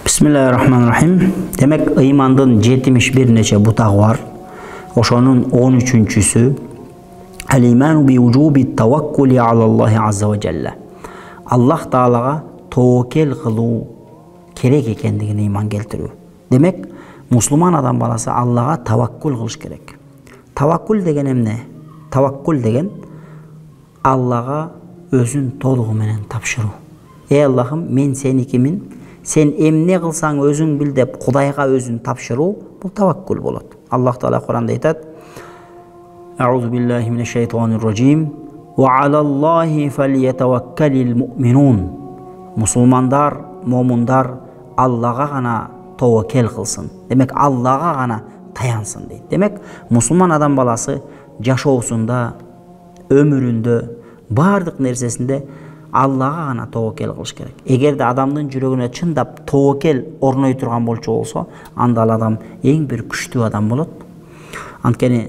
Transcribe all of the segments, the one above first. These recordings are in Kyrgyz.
Bismillahirrahmanirrahim. Demek ыймандын 71 нече бутагы бар. Ошонун 13-чүсү al-iman bi wujubi tawakkuli ala Allah azza wa jalla. Аллах Таалага тоокел кылуу керек экендигине ыйман келтирүү. Демек, мусулман адам баласы Аллага таваккул кылыш керек. Таваккул деген эмне? Таваккул деген Аллага өзүн толугу менен тапшыруу. Эй Аллахым, мен сеникимин, сен эмне кылсаң өзүң бил деп Кудайга өзүн тапшыруу, бул таваккул болот. Аллах Таала Куранда айтат: Аузу биллахи минеш шайтанир раджим. Ва алаллахи фальятаваккалил муъминун. Мусулмандар, момундар Аллага гана таваккул кылсын. Демек, Аллага гана таянсын дейт. Демек, мусулман адам баласы жашоосунда, өмүрүндө, бардык нерсесинде Аллага гана таваккул кылыш керек. Эгерде адамдын жүрөгүнө чындап таваккул орной турган болчу болсо, анда ал адам эң бир күчтүү адам болот. Анткени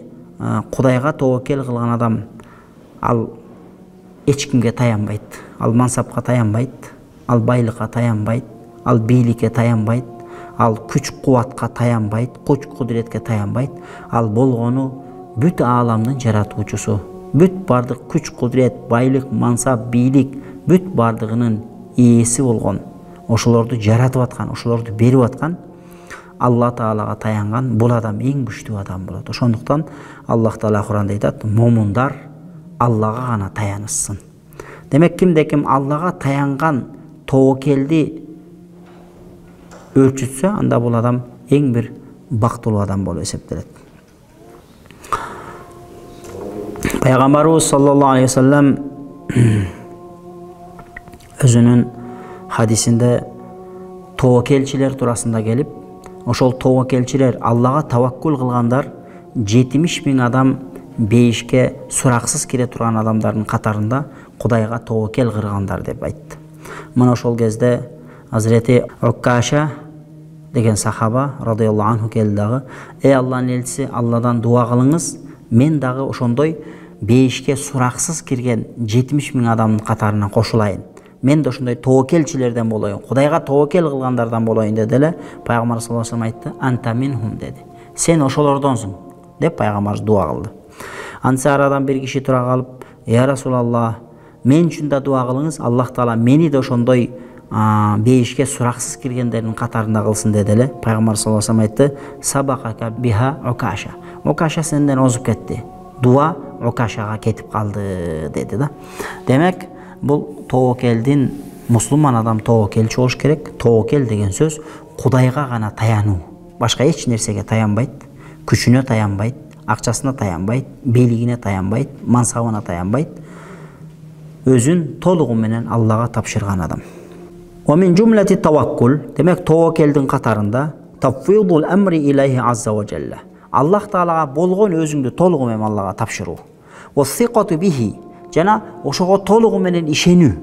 Кудайга таваккул кылган адам ал эч кимге таянбайт. Ал мансапка таянбайт, ал байлыкка таянбайт, ал бийликке таянбайт, ал күч-кубатка таянбайт, күч-кудуретке таянбайт. Ал болгону бүт ааламдын жаратуучусу. Бүт бардык күч-кудурет, байлык, мансап, бийлик бүт бардыгынын ээси болгон, ошолорду жаратып аткан, ошолорду берип аткан Алла Таалага таянган бул адам эң күчтүү адам болот. Ошондуктан Аллах Таала Куранда айтат: "Момундар Аллага гана таянышсын." Демек, кимде ким Аллага таянган таваккелди өлчүтсө, анда бул адам эң бир бактылуу адам болуп эсептелет. Пайгамбарыбыз саллаллаху алейхи ва саллям өзүнүн хадисинде таваккелчилер туурасында келип, ошол таваккелчилер, Аллага таваккул кылгандар 70 000 адам бейишке сураксыз кире турган адамдардын катарында Кудайга таваккул кылгандар деп айтты. Мына ошол кезде Азирети Уккаша деген сахаба радыйаллаху анху келди дагы: "Эй Алланын элчиси, Алладан дуа кылыңыз, мен дагы ошондой бейишке сураксыз кирген 70 000 адамдын катарына кошулайын. Мен да ошондой таваккелчилерден болоюн, Кудайга таваккул кылгандардан болоюн" деди эле. Пайгамбар саллаллаху алейхи ва саллям айтты: "Анта минхум" деди. "Сен ошолордонсуң" деп пайгамбар дуа кылды. Антса арадан бир киши тура калып: "Я Расулаллах, мен үчүн да дуа кылыңыз, Аллах Таала мени да ошондой бейишке сураксыз киргендердин катарында кылсын" деди эле. Пайгамбар саллаллаху алейхи ва саллям айтты: "Сабакака биха Укаша. Укаша сенден озуп кетти. Дуа Укашага кетип калды" деди да. Демек, бул таваккелдин, мусулман адам таваккелчи болуш керек. Таваккел деген сөз Кудайга гана таянуу. Башка эч нерсеге таянбайт, күчүнө таянбайт, акчасына таянбайт, бийлигине таянбайт, мансабына таянбайт. Өзүн толугу менен Аллага тапшырган адам. Ва мин жумлати таваккул, демек таваккелдин катарында тафвидул амри илайхи азза ва жалла. Аллах Таалага болгон өзүңдү толугу менен Аллага тапшыруу. Ва сиқату бихи, жана ошого толугу менен ишенүү.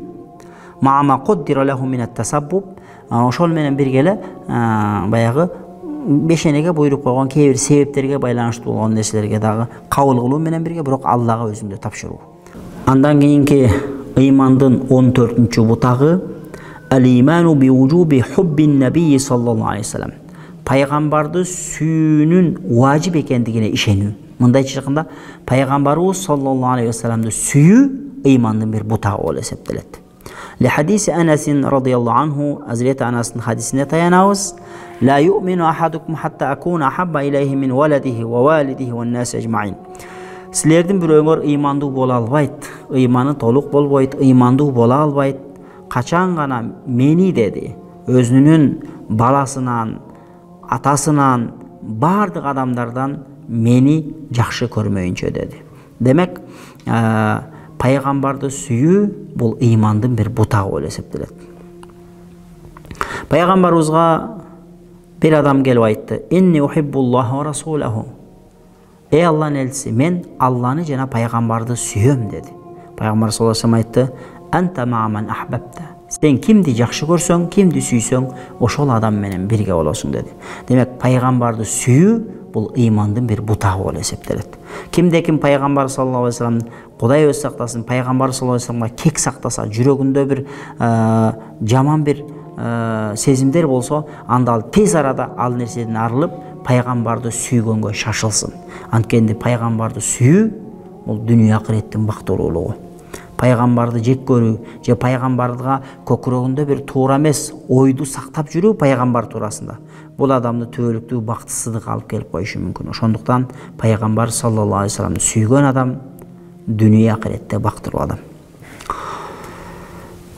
Маама куддира лаху мин ат-тасаббуб, ошол менен бирге эле баягы бешенеге буйруп койгон кээ бир себептерге байланыштуу болгон нерселерге дагы кабыл кылуу менен бирге, бирок Аллага өзүңдү тапшыруу. Андан кийинки ыймандын 14-чү бутагы al-imanu bi wujubi hubbin nabiy sallallahu aleyhi ve sellem. Пайгамбарды сүйүүнүн важип экендигине ишенүү. Мындайча айтканда, пайгамбарыбыз саллаллаху алейхи ва салламды сүйүү ыймандын бир бутагы болуп эсептелет. Ли хадиси Анас радыйаллаху анху, Азирети Анастын хадисине таянабыз: "Ла ю'мину ахадукум хатта акуна ахабба илейхи мин валадихи ва валидихи ва нас ажмаин." Силердин бирөөңөр ыймандуу боло албайт, ыйманы толук болбойт, ыймандуу боло албайт. Качан гана мени деди, өзүнүн баласынан, атасынан, бардык адамдардан мени жакшы көрмөйүнчө деди. Демек, пайгамбарды сүйүү бул ыймандын бир бутагы болуп эсептелет. Пайгамбарыбызга бир адам келип айтты: "Инни ухиббуллаха ва расулаху." Эй Алланын элчиси, мен Алланы жана пайгамбарды сүйөм деди. Пайгамбар саллаллаху алейхи ва саллям айтты: "Анта ма'ман ахбабта." Сен кимди жакшы көрсөң, кимди сүйсөң, ошол адам менен бирге болосуң деди. Демек, пайгамбарды сүйүү бул ыймандын бир бутагы болуп эсептелет. Кимде ким пайгамбар саллаллаху алейхи ва саллям, Кудай өз сактасын, пайгамбар саллаллаху алейхи ва салламга кек сактаса, жүрөгүндө бир жаман бир сезимдер болсо, анда ал тез арада ал нерседен арылып, пайгамбарды сүйгөнгө шашылсын. Анткени пайгамбарды сүйүү бул дүнүйө акыреттин бактылуулугу. Пайгамбарды жек көрүү же пайгамбарга көкүрөгүндө бир туура эмес ойду сактап жүрүү пайгамбар туурасында бул адамды түбөлүктүү бактысыздыкка алып келип коюшу мүмкүн. Ошондуктан пайгамбар саллаллаху алейхи вассаламды сүйгөн адам дүнүйө акыретте бактылуу адам.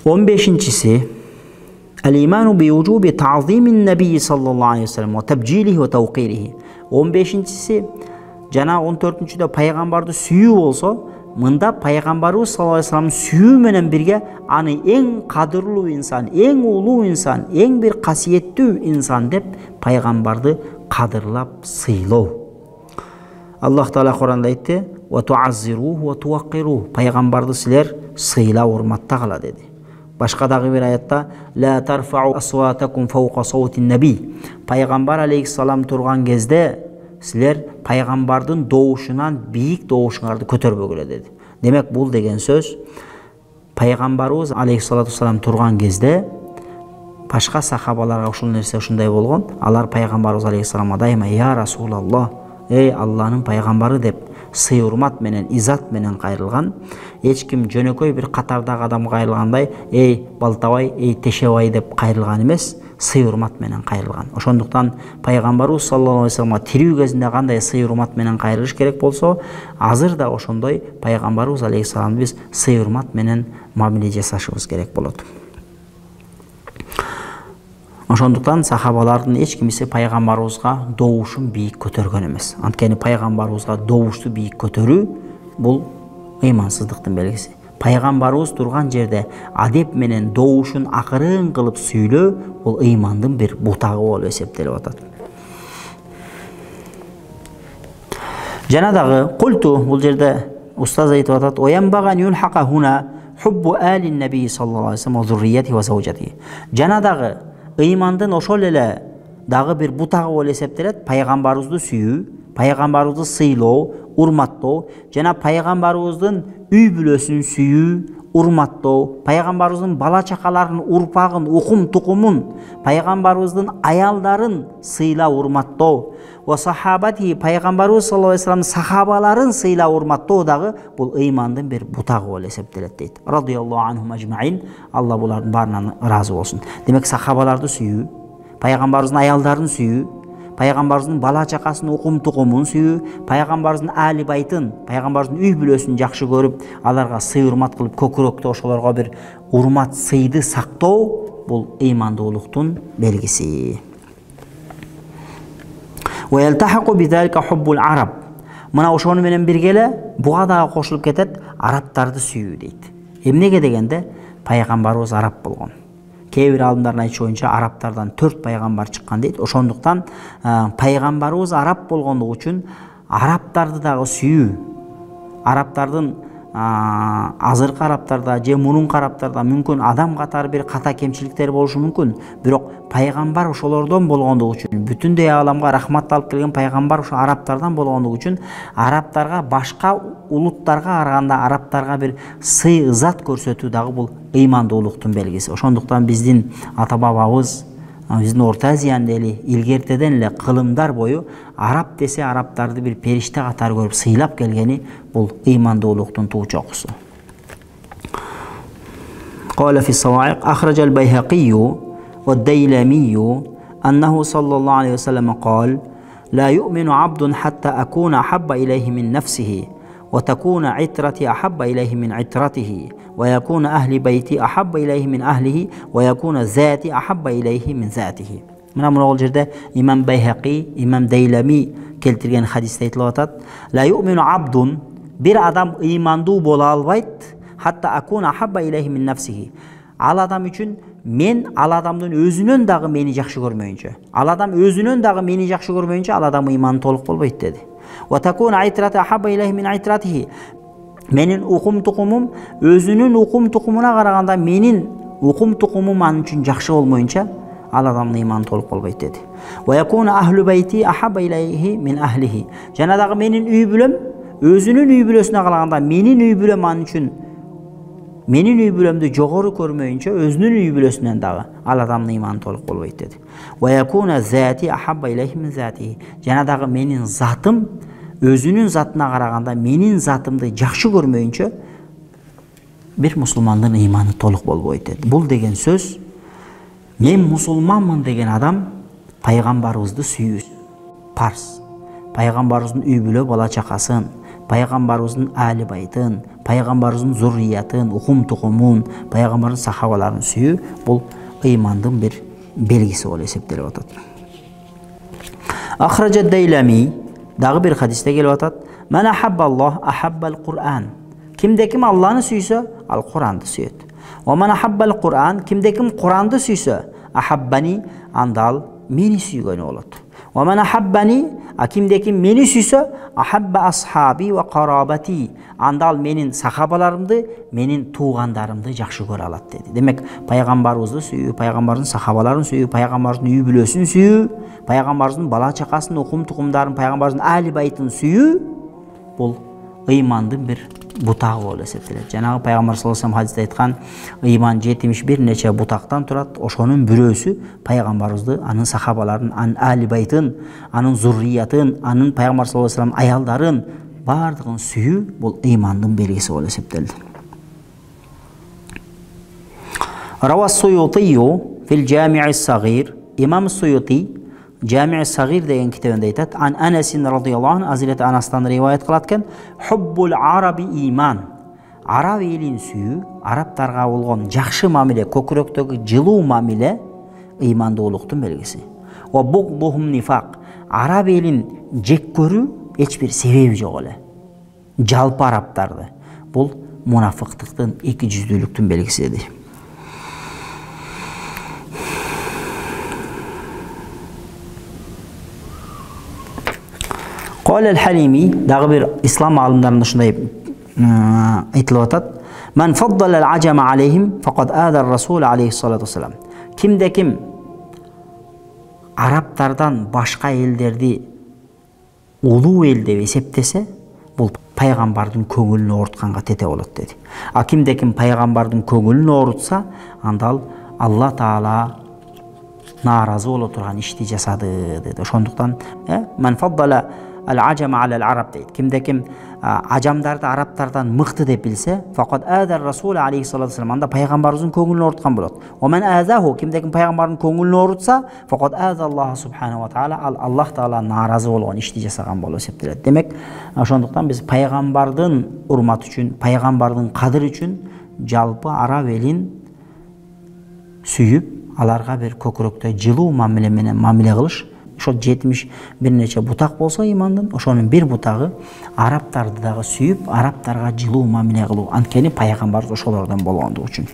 15-си Al-imanu bi wujubi ta'zimin nabiy sallallahu aleyhi ve sellem ve tebcilihi ve tawqirihi. 15-си жана 14-чүдө пайгамбарды сүйүү болсо, мында пайгамбарыбыз саллаллаху алейхи вассаламды сүйүү менен бирге аны эң кадырлуу инсан, эң улуу инсан, эң бир касиеттүү инсан деп пайгамбарды кадырлап сыйлоо. Аллах Таала Куранда айтты: "Ва туаззируху ва туаққируху." Пайгамбарды силер сыйлап урматтагыла деди. Башка дагы бир аятта: "Ла тарфау асватакум фауqa саутин наби." Пайгамбар алейхиссалам турган кезде силер пайгамбардын доушунан бийик доушуңарды көтөрбөгүлө деди. Демек бул деген сөз пайгамбарыбыз алейхиссалату вассалам турган кезде башка сахабаларга ушул нерсе ушундай болгон. Алар пайгамбарыбыз алейхиссаламга дайыма "Я Расулаллах, эй Алланын пайгамбары" деп сый урмат менен, изат менен кайрылган. Эч ким жөнөкөй бир катардагы адам кайрылгандай "Эй Балтабай, эй Тешебай" деп кайрылган эмес, сый урмат менен кайрылган. Ошондуктан пайгамбарыбыз саллаллаху алейхи вассаламга тирүү кезинде кандай сый урмат менен кайрылыш керек болсо, азыр да ошондой пайгамбарыбыз алейхиссаламды биз сый урмат менен мамиле жасашыбыз керек болот. Ошондуктан сахабалардын эч кимиси пайгамбарыбызга доушун бийик көтөргөн эмес. Анткени пайгамбарыбызга доушту бийик көтөрүү бул ыймансыздыктын белгиси. Пайгамбарыбыз турган жерде адеп менен доушун акырын кылып сүйлөө бул ыймандын бир бутагы болуп эсептелип атат. Жана дагы культу бул жерде устаз айтып атат: "Оянбаган юлхака хуна хуббу алин наби саллаллаху алейхи вассалам ва зуррияти ва заужати." Жана дагы ыймандын ошол эле дагы бир бутагы болуп эсептелет пайгамбарыбызды сүйүү, пайгамбарыбызды сыйлоо, урматтоо жана пайгамбарыбыздын үй бүлөсүн сүйүү, урматтоо, пайгамбарыбыздын бала чакаларын, урпагын, укум тукумун, пайгамбарыбыздын аялдарын сыйлап урматтоо, ва сахабати пайгамбарыбыз саллаллаху алейхи вассалам сахабаларын сыйлап урматтоо дагы бул ыймандын бир бутагы болуп эсептелет дейт. Радияллаху анхум ажмаин. Алла булардын баарынан ыраазы болсун. Демек сахабаларды сүйүү, пайгамбарыбыздын аялдарын сүйүү, пайгамбарыбыздын бала чакасын, укум тукумун сүйүү, пайгамбарыбыздын али байтын, пайгамбарыбыздын үй бүлөсүн жакшы көрүп, аларга сый урмат кылып, көкүрөктө ошолорго бир урмат сыйды сактоо бул ыймандуулуктун белгиси. Ва ялтахaqu bizalika hubbul arab. Мына ошону менен бирге эле буга дагы кошулуп кетет арабтарды сүйүү дейт. Эмнеге дегенде пайгамбарыбыз араб болгон. Кээ бир алымдардын айтышы боюнча арабтардан 4 пайгамбар чыккан дейт. Ошондуктан пайгамбарыбыз араб болгондугу үчүн арабтарды дагы сүйүү, арабтардын азыркы арабтарда же мурунку арабтарда мүмкүн адам катары бир ката кемчиликтер болушу мүмкүн. Бирок пайгамбар ошолордон болгондугу үчүн, бүтүндөй аламга рахмат алып келген пайгамбар ошо арабтардан болгондугу үчүн арабтарга башка улуттарга караганда арабтарга бир сый ызат көрсөтүү дагы бул ыймандуулуктун белгиси. Ошондуктан биздин ата бабабыз, биздин Орто Азиянын эли илгертеден эле кылымдар бою араб десе арабтарды бир периште катары көрүп сыйлап келгени бул ыймандуулуктун туу чокусу. Qala fi as-sawa'iq akhraja al-Bayhaqi wa ad-Daylami annahu sallallahu alayhi wa sallam qala la yu'minu 'abdun hatta akuna ahabba ilayhi min nafsihi wa takuna 'itrati ahabba ilayhi min 'itratihi ويكون أهل بيتي أحب إليه من أهله ويكون ذاتي أحب إليه من ذاته. Мына бул жерде имам Байхақи, имам Дейлами келтирген хадисте айтылып атат: "Ла ю'мину абдун" бир адам ыймандуу боло албайт, хатта акуна ахабба илейхи мин нафсихи. Ал адам үчүн мен ал адамдын өзүнөн дагы мени жакшы көрмөйүнчө, ал адам өзүнөн дагы мени жакшы көрмөйүнчө ал адам ыйманы толук болбойт деди. Ва такуна айтрата ахабба илейхи мин айтратихи. Менин укум тукумум өзүнүн укум тукумуна караганда менин укум тукумум ан үчүн жакшы болмоюнча ал адамдын ыйманы толук болбойт деди. Ва якуна ахлу байти ахабба илейхи мин ахлихи. Жана дагы менин үй бүлөм өзүнүн үй бүлөсүнө караганда менин үй бүлөм ан үчүн менин үй бүлөмдү жогору көрмөйүнчө өзүнүн үй бүлөсүнөн дагы ал адамдын ыйманы толук болбойт деди. Жана дагы менин затым өзүнүн затына караганда менин затымды жакшы көрмөйүнчө бир мусулмандын ыйманы толук болбойт деди. Бул деген сөз мен мусулманмын деген адам пайгамбарыбызды сүйүүсү парз. Пайгамбарыбыздын үй бүлө бала чакасын, пайгамбарыбыздын али байтын, пайгамбарыбыздын зурриятын, укум тукумун, пайгамбардын сахабаларын сүйүү бул ыймандын бир белгиси болуп эсептелип атат. Ахраджат Дейлами дагы бир хадисте келип атат: "Ман ахаббаллах ахаббал Кур'ан." Кимде ким Алланы сүйсө, ал Куранды сүйөт. "Ва ман ахаббал Кур'ан." Кимде ким Куранды сүйсө, ахаббани, анда ал мени сүйгөнү болот. "Ва ман ахаббани", кимде ким мени сүйсө, ахабба асхаби ва карабати. Анда ал менин сахабаларымды, менин туугандарымды жакшы көрө алат деди. Демек, пайгамбарыбызды сүйүү, пайгамбардын сахабаларын сүйүү, пайгамбардын үй бүлөсүн сүйүү, пайгамбардын бала чакасын, укум тукумдарын, пайгамбардын али байтын сүйүү бул ыймандын бир бутагы болуп эсептелет. Жанагы пайгамбар саллаллаху алейхи вассалам хадисте айткан, ыйман 71 нече бутактан турат. Ошонун бирөөсү пайгамбарыбызды, анын сахабаларын, анын али байтын, анын зурриятын, анын пайгамбар саллаллаху алейхи вассалам аялдарын бардыгын сүйүү бул ыймандын белгиси болуп эсептелди. Равас Суйутию фил Жами'ис Сагир. Имам Суйути Жами'ис Сагир деген китебинде айтат: "Ан Анасин радияллаху анху, Азирет Анастан риваят кылат экен, хуббул араби иман." Араб элин сүйүү, арабтарга болгон жакшы мамиле, көкүрөктөгү жылуу мамиле ыймандуулуктун белгиси. Ва бугдухум нифак. Араб элин жек көрүү эч бир себеби жок эле. Жалпы арабтарды. Бул мунафыктыктын, эки жүздүүлүктүн белгиси деди. Кол аль-Халими дагы бир ислам алымдарында ушундай айтылып атат: "Ман фаддала аль-аджама алейхим факад ада ар-расул алейхиссалату вассалам." Кимде ким арабтардан башка элдерди улуу эл деп эсептесе, бул пайгамбардын көңүлүн оорутканга тете болот деди. А кимде ким пайгамбардын көңүлүн оорутса, анда ал Алла Таала нааразы боло турган ишти жасады деди. Ошондуктан ман фаддала аль-аджама аль-араб дейт. Кимде ким ажамдарды арабтардан мыкты деп билсе, факад ада ар-расул алейхиссалату вассалам, анда пайгамбарыбыздын көңүлүн ооруткан болот. Ва ман азаху, кимде ким пайгамбардын көңүлүн оорутса, факад ада Аллах субханаху ва таала, ал Аллах Таала нааразы болгон ишти жасаган болуп эсептелет. Демек, ошондуктан биз пайгамбардын урматы үчүн, пайгамбардын кадыры үчүн жалпы араб элин сүйүп, аларга бир көкүрөктө жылуу мамиле менен мамиле кылыш. Ошо 71 нече бутак болсо ыймандын, ошонун бир бутагы арабтарды дагы сүйүп, арабтарга жылуу мамиле кылуу. Анткени пайгамбар ошолордон болгондугу үчүн.